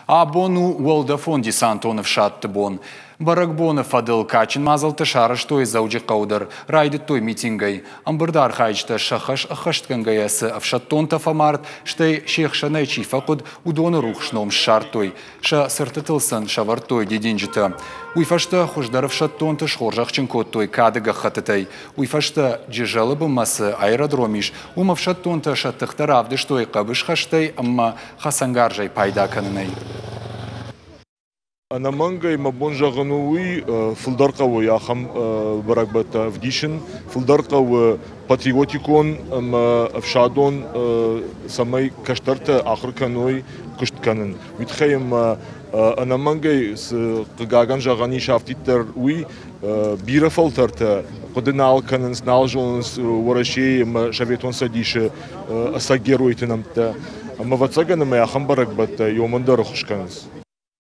Абон у уӕлдӕфон-десантон ӕфсӕдты бон. Бӕрӕгбоны фӕдыл кадджын мадзӕлттӕ сарӕзтой Дзӕуджыхъӕуы дӕр. Райдыдтой митингӕй. Ӕмбырды архайджытӕ сӕ хӕс ӕххӕстгӕнгӕйӕ цы ӕфсӕддонтӕ фӕмард, стӕй се хсӕнӕй чи фӕхъуыд, уыдоны рухс ном ссардтой. Сӕ цыртытыл сын сӕвӕрдтой дидинджытӕ. Уый фӕстӕ хуыздӕр ӕфсӕддонты схорзӕхджын кодтой кады гӕххӕттытӕй. Уый фӕстӕ Джызӕлы бынмӕ цы аэродром ис, уым ӕфсӕддонтӕ сӕ тыхтӕ равдыстой хъӕбысхӕстӕй ӕмӕ хӕцӕнгарзӕй пайда кӕнынӕй. Ӕнӕмӕнгӕй мӕ бон зӕгъын у уый, фылдӕр хъӕуы ахӕм бӕрӕгбӕттӕ ӕвдисын, фылдӕр хъӕуы патриотикон ӕмӕ ӕфсадон, цӕмӕй кӕстӕртӕ ахуыр кӕной куыст кӕнын. Уый тыххӕй ӕмӕ ӕнӕмӕнгӕй цы хъыгагӕн зӕгъӕн ис афтиддӕр уый, бирӕ фӕлтӕртӕ хъуыды нал кӕнынц, нал зонынц Уӕрӕсейы ӕмӕ Советон Цӕдисы ӕцӕг геройты нӕмттӕ. Ӕмӕ ӕвӕццӕгӕн ӕмӕ ахӕм бӕрӕгбӕттӕ иомӕн дӕр ӕххуыс кӕнынц.